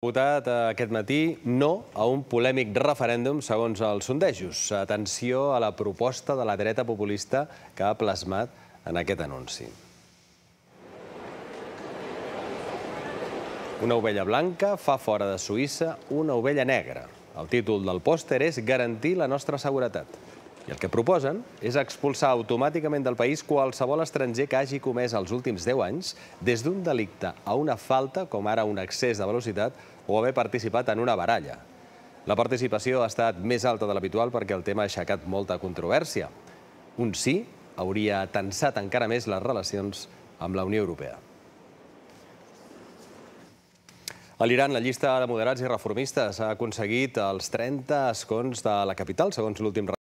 Votat aquest matí no a un polèmic referèndum segons els sondejos. Atenció a la proposta de la dreta populista que ha plasmat en aquest anunci. Una ovella blanca fa fora de Suïssa una ovella negra. El títol del pòster és garantir la nostra seguretat. I el que proposen és expulsar automàticament del país qualsevol estranger que hagi comès els últims 10 anys des d'un delicte a una falta, com ara un excés de velocitat, o haver participat en una baralla. La participació ha estat més alta de l'habitual perquè el tema ha aixecat molta controvèrsia. Un sí hauria tensat encara més les relacions amb la Unió Europea. A l'Iran, la llista de moderats i reformistes ha aconseguit els 30 escons de la capital, segons l'últim